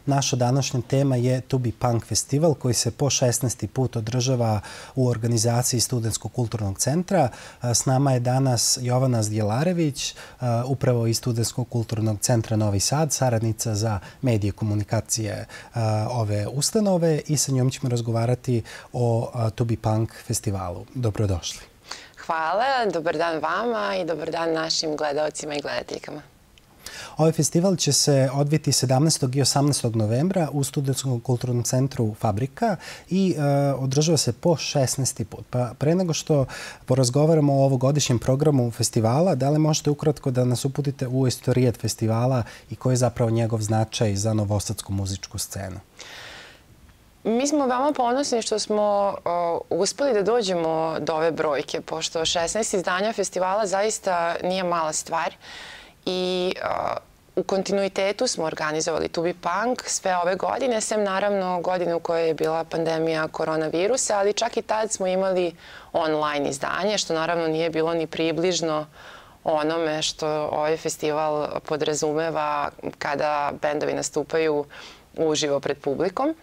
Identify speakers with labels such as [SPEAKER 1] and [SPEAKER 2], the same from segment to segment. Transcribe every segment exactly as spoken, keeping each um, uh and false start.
[SPEAKER 1] Naša današnja tema je Tubi Punk festival koji se po šesnaesti put održava u organizaciji Studentskog kulturnog centra. S nama je danas Jovana Zdjelarević, upravo iz Studentskog kulturnog centra Novi Sad, saradnica za medije i komunikacije ove ustanove i sa njom ćemo razgovarati o Tubi Punk festivalu. Dobrodošli.
[SPEAKER 2] Hvala, dobar dan vama i dobar dan našim gledalcima i gledateljkama.
[SPEAKER 1] Ovaj festival će se odviti sedamnaestog i osamnaestog novembra u Studentskom kulturnom centru Fabrika i e, održava se po šesnaesti put. Pa pre nego što porazgovaramo o ovogodišnjem programu festivala, da li možete ukratko da nas uputite u istorijet festivala i koji je zapravo njegov značaj za novosadsku muzičku scenu?
[SPEAKER 2] Mi smo veoma ponosni što smo uh, uspeli da dođemo do ove brojke, pošto šesnaest izdanja festivala zaista nije mala stvar i uh, u kontinuitetu smo organizovali Tubi Punk sve ove godine, sem naravno godine u kojoj je bila pandemija koronavirusa, ali čak i tad smo imali online izdanje, što naravno nije bilo ni približno onome što ovaj festival podrazumeva kada bendovi nastupaju uživo pred publikom.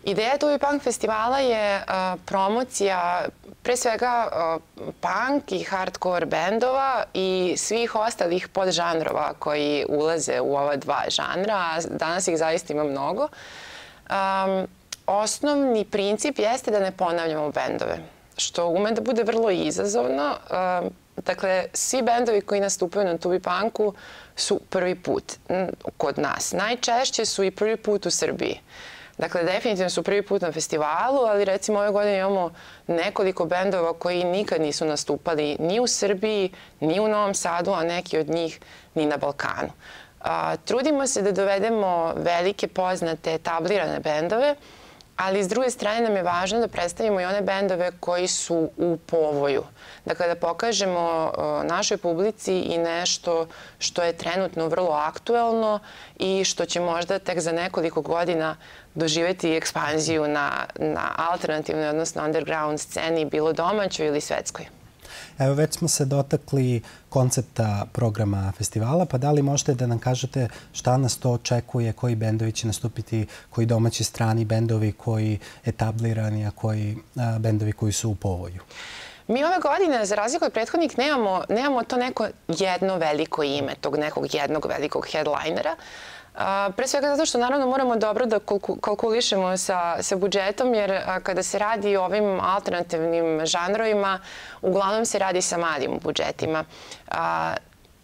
[SPEAKER 2] Ideja Tubi Punk festivala je uh, promocija pre svega uh, punk i hardcore bendova i svih ostalih podžanrova koji ulaze u ova dva žanra, a danas ih zaista ima mnogo. Um, osnovni princip jeste da ne ponavljamo bendove, što ume da bude vrlo izazovno. Uh, dakle, svi bendovi koji nastupaju na Tubi Punku su prvi put kod nas. Najčešće su i prvi put u Srbiji. Dakle, definitivno su prvi put na festivalu, ali recimo ove godine imamo nekoliko bendova koji nikad nisu nastupali ni u Srbiji, ni u Novom Sadu, a neki od njih ni na Balkanu. A, trudimo se da dovedemo velike, poznate, etablirane bendove, ali s druge strane nam je važno da predstavimo i one bendove koji su u povoju. Dakle, da pokažemo našoj publici i nešto što je trenutno vrlo aktuelno i što će možda tek za nekoliko godina doživjeti ekspanziju na, na alternativnoj, odnosno underground sceni, bilo domaćoj ili svetskoj.
[SPEAKER 1] Evo, već smo se dotakli koncepta programa festivala, pa da li možete da nam kažete šta nas to očekuje, koji bendovi će nastupiti, koji domaći strani bendovi, koji etablirani, a koji a, bendovi koji su u povoju?
[SPEAKER 2] Mi ove godine, za razliku od prethodnih, nemamo, nemamo to neko jedno veliko ime, tog nekog jednog velikog headlinera. Uh, pre svega zato što naravno moramo dobro da kalkulišemo sa, sa budžetom, jer uh, kada se radi o ovim alternativnim žanrovima, uglavnom se radi sa malim budžetima. Uh,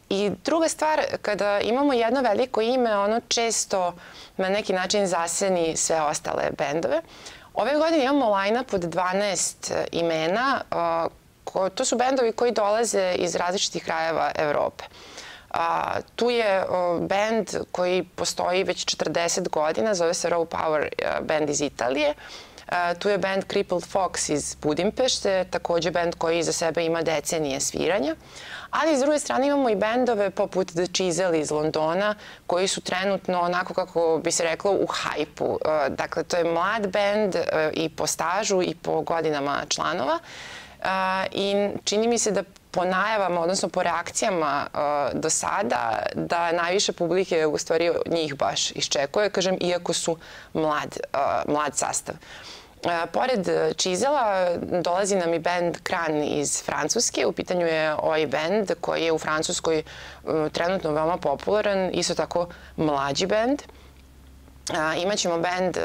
[SPEAKER 2] I druga stvar, kada imamo jedno veliko ime, ono često na neki način zaseni sve ostale bendove. Ove godine imamo line-up od dvanaest imena. Uh, ko, to su bendovi koji dolaze iz različitih krajeva Evrope. A, tu je o, band koji postoji već četrdeset godina, zove se Raw Power band iz Italije. A, tu je band Crippled Fox iz Budimpešte, također band koji iza sebe ima decenije sviranja. Ali s druge strane imamo i bendove poput The Chisel iz Londona, koji su trenutno onako kako bi se reklo u hajpu. A, dakle, to je mlad band a, i po stažu i po godinama članova. A, I čini mi se da po najavama, odnosno po reakcijama uh, do sada, da najviše publike u stvari njih baš iščekuje, kažem, iako su mlad, uh, mlad sastav. Uh, pored Chisela dolazi nam i band Kran iz Francuske. U pitanju je ovaj band koji je u Francuskoj uh, trenutno veoma popularan, isto tako mlađi band. Uh, imaćemo band uh,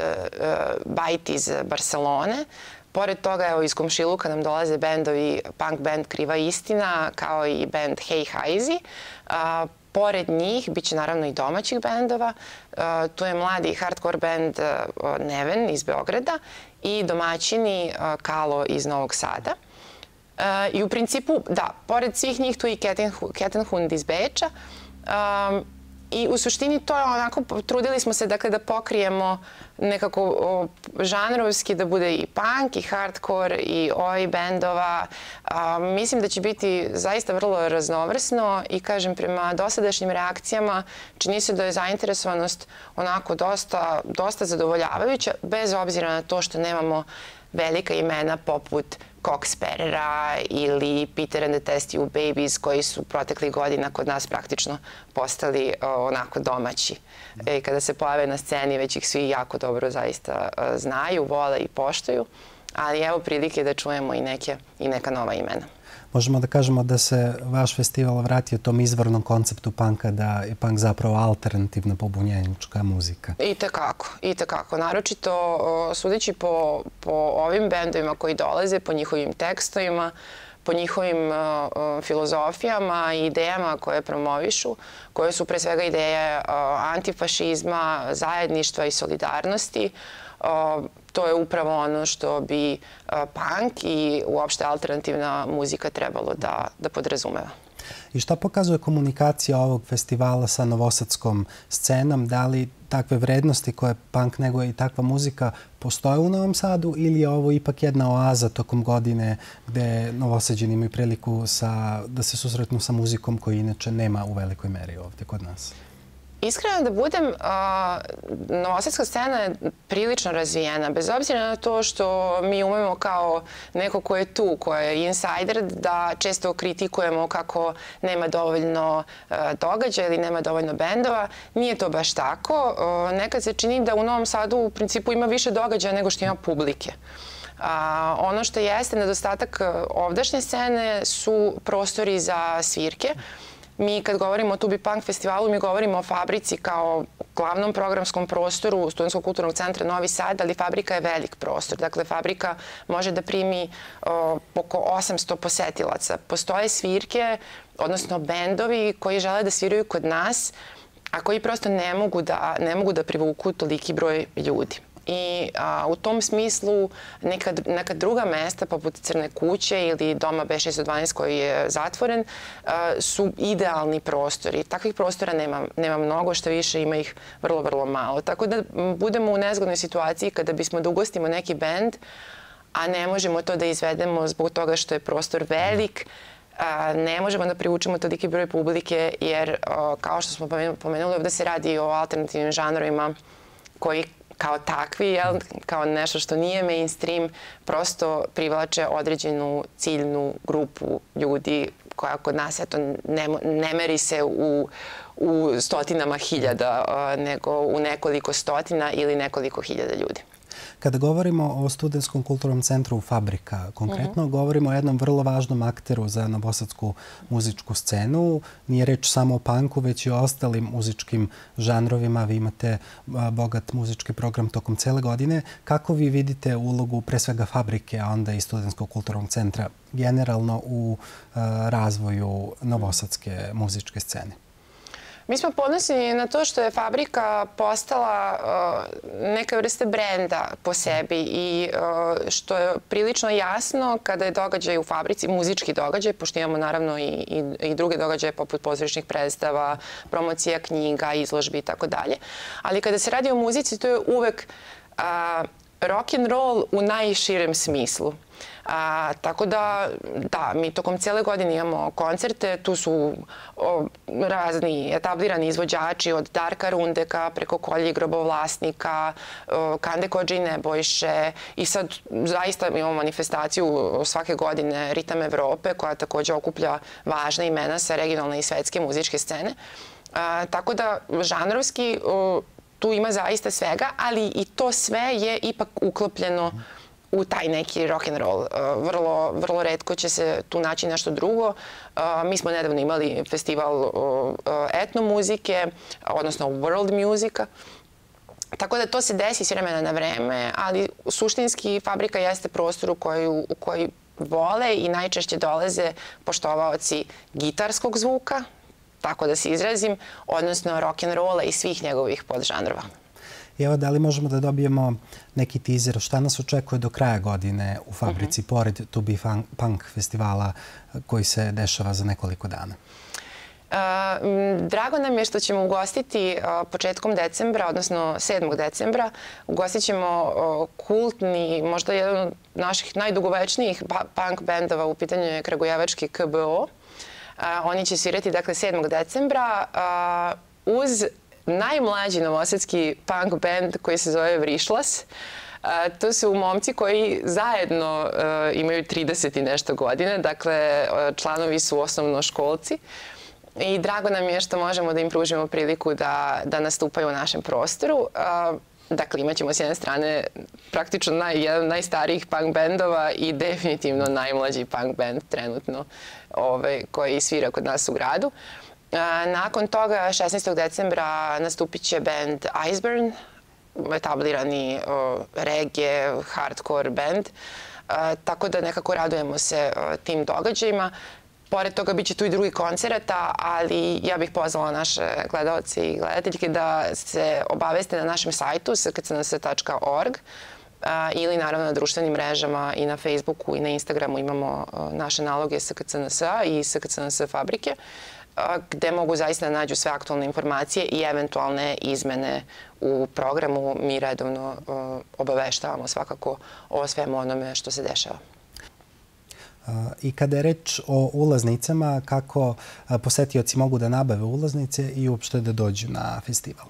[SPEAKER 2] Bite iz Barcelone. Pored toga, evo, iz komšiluka nam dolaze bendovi, punk band Kriva istina, kao i band Hey Haizi. A, pored njih bit će naravno i domaćih bendova. A, tu je mladi hardcore band a, Neven iz Beograda i domaćini a, Kalo iz Novog Sada. A, I u principu, da, pored svih njih tu je i Kettenhund iz Beča. A, I u suštini to je onako, trudili smo se dakle da pokrijemo nekako o, žanrovski, da bude i punk i hardcore i oj bendova. A, mislim da će biti zaista vrlo raznovrsno i kažem prema dosadašnjim reakcijama čini se da je zainteresovanost onako dosta, dosta zadovoljavajuća, bez obzira na to što nemamo velika imena poput Cox Sparrera ili Peter and the Test Tube Babies, koji su proteklih godina kod nas praktično postali onako domaći. I kada se pojave na sceni, već ih svi jako dobro zaista znaju, vole i poštuju, ali evo prilike da čujemo i neke i neka nova imena.
[SPEAKER 1] Možemo da kažemo da se vaš festival vratio tom izvornom konceptu punka, da je punk zapravo alternativna pobunjenička muzika.
[SPEAKER 2] I tekako, i tekako. Naročito sudeći po, po ovim bendovima koji dolaze, po njihovim tekstovima, po njihovim uh, filozofijama i idejama koje promovišu, koje su pre svega ideje uh, antifašizma, zajedništva i solidarnosti. Uh, to je upravo ono što bi uh, punk i uopšte alternativna muzika trebalo da, da podrazumeva.
[SPEAKER 1] I šta pokazuje komunikacija ovog festivala sa novosadskom scenom? Da li takve vrednosti koje punk neguje i takva muzika postoje u Novom Sadu ili je ovo ipak jedna oaza tokom godine gde Novosađani imaju priliku sa, da se susretnu sa muzikom koju inače nema u velikoj meri ovdje kod nas?
[SPEAKER 2] Iskreno da budem, uh, novosadska scena je prilično razvijena, bez obzira na to što mi umemo kao neko ko je tu, ko je insider, da često kritikujemo kako nema dovoljno uh, događaja ili nema dovoljno bendova. Nije to baš tako. Uh, nekad se čini da u Novom Sadu u principu ima više događaja nego što ima publike. A, ono što jeste nedostatak ovdašnje scene su prostori za svirke. Mi kad govorimo o Tubi Punk festivalu, mi govorimo o Fabrici kao glavnom programskom prostoru Studentskog kulturnog centra Novi Sad, ali Fabrika je velik prostor. Dakle, Fabrika može da primi o, oko osamsto posetilaca. Postoje svirke, odnosno bendovi koji žele da sviraju kod nas, a koji prosto ne mogu da, ne mogu da privuku toliki broj ljudi. I a, u tom smislu neka, neka druga mesta, poput Crne kuće ili Doma B šesto dvanaest koji je zatvoren, a, su idealni prostori. Takvih prostora nema, nema mnogo, što više ima ih vrlo, vrlo malo. Tako da budemo u nezgodnoj situaciji kada bismo da ugostimo neki bend, a ne možemo to da izvedemo zbog toga što je prostor velik, a, ne možemo da privučemo toliki broj publike, jer a, kao što smo pomenuli, ovdje se radi o alternativnim žanrovima koji kao takvi, jel, kao nešto što nije mainstream, prosto privlače određenu ciljnu grupu ljudi koja kod nas eto, ne, ne meri se u, u stotinama hiljada, nego u nekoliko stotina ili nekoliko hiljada ljudi.
[SPEAKER 1] Kada govorimo o Studentskom kulturnom centru Fabrika, konkretno uh-huh. govorimo o jednom vrlo važnom akteru za novosadsku muzičku scenu. Nije reč samo o punku, već i o ostalim muzičkim žanrovima. Vi imate bogat muzički program tokom cele godine. Kako vi vidite ulogu pre svega Fabrike, a onda i Studentskog kulturnog centra generalno u uh, razvoju novosadske muzičke scene?
[SPEAKER 2] Mi smo ponosni na to što je Fabrika postala uh, neka vrste brenda po sebi i uh, što je prilično jasno kada je događaj u Fabrici, muzički događaj, pošto imamo naravno i, i, i druge događaje poput pozorišnih predstava, promocija knjiga, izložbi i tako dalje. Ali kada se radi o muzici, to je uvek uh, rock and roll u najširem smislu. A, tako da, da, mi tokom cijele godine imamo koncerte, tu su o, razni etablirani izvođači od Darka Rundeka preko Kolje Grobovlasnika, o, Kande Kodže i Nebojše i sad zaista imamo manifestaciju svake godine Ritam Evrope koja također okuplja važna imena sa regionalne i svetske muzičke scene. A, tako da, žanrovski, o, tu ima zaista svega, ali i to sve je ipak uklopljeno u taj neki rock and roll. Vrlo, vrlo retko će se tu naći nešto drugo. Mi smo nedavno imali festival etnomuzike, odnosno world musika. Tako da to se desi s vremena na vreme, ali suštinski Fabrika jeste prostor u koji, u koji vole i najčešće dolaze poštovaoci gitarskog zvuka, tako da se izrazim, odnosno rock and rolla i svih njegovih podžanrova.
[SPEAKER 1] I evo, da li možemo da dobijemo neki teaser šta nas očekuje do kraja godine u Fabrici, uh-huh. pored Tubi Punk festivala koji se dešava za nekoliko dana?
[SPEAKER 2] Uh, drago nam je što ćemo ugostiti uh, početkom decembra, odnosno sedmog decembra. Ugostit ćemo uh, kultni, možda jedan od naših najdugovečnijih punk bendova, u pitanju je kragujevački K B O. Uh, oni će svirati dakle sedmog decembra uh, uz najmlađi novosadski punk band koji se zove Vrišlas. To su momci koji zajedno imaju trideset i nešto godine, dakle članovi su osnovnoškolci i drago nam je što možemo da im pružimo priliku da, da nastupaju u našem prostoru. Dakle, imat ćemo s jedne strane praktično naj, jedan od najstarijih punk bendova i definitivno najmlađi punk band trenutno ovaj, koji svira kod nas u gradu. Nakon toga, šesnaestog decembra, nastupit će band Iceburn, etablirani reggae, hardcore band, tako da nekako radujemo se tim događajima. Pored toga biće tu i drugi koncerata, ali ja bih pozvala naše gledalce i gledateljke da se obaveste na našem sajtu s k c n s tačka org ili naravno na društvenim mrežama i na Facebooku i na Instagramu imamo naše naloge S K C N S-a i S K C N S fabrike, gde mogu zaista da nađu sve aktualne informacije i eventualne izmene u programu. Mi redovno obaveštavamo svakako o svemu onome što se dešava.
[SPEAKER 1] I kada je reč o ulaznicama, kako posetioci mogu da nabave ulaznice i uopšte da dođu na festival?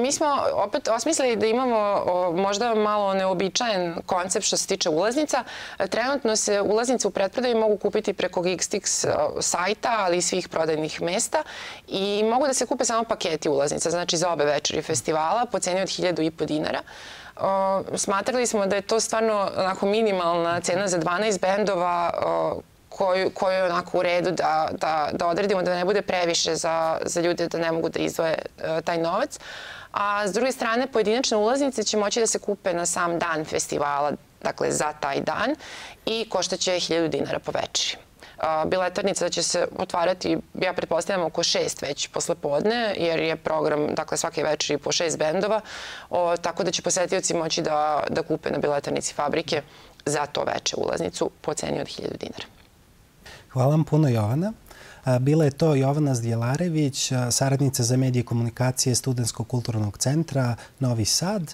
[SPEAKER 2] Mi smo opet osmislili da imamo možda malo neobičajen koncept što se tiče ulaznica. Trenutno se ulaznice u pretprodaji mogu kupiti preko Geekstix sajta, ali i svih prodajnih mesta i mogu da se kupe samo paketi ulaznica, znači za obe večeri festivala po ceni od hiljadu i po dinara. Smatrali smo da je to stvarno onako minimalna cena za dvanaest bendova koju, koju je onako u redu da, da, da odredimo, da ne bude previše za, za ljude da ne mogu da izdvoje taj novac. A s druge strane, pojedinačne ulaznice će moći da se kupe na sam dan festivala, dakle za taj dan, i koštaće hiljadu dinara po večeri. Biletarnica će se otvarati, ja pretpostavljam, oko šest već posle podne, jer je program, dakle, svake večeri po šest bendova, o, tako da će posetioci moći da, da kupe na biletarnici fabrike za to veče ulaznicu po ceni od hiljadu dinara.
[SPEAKER 1] Hvala vam puno, Jovana. Bila je to Jovana Zdjelarević, saradnica za medije i komunikacije Studentskog kulturnog centra Novi Sad.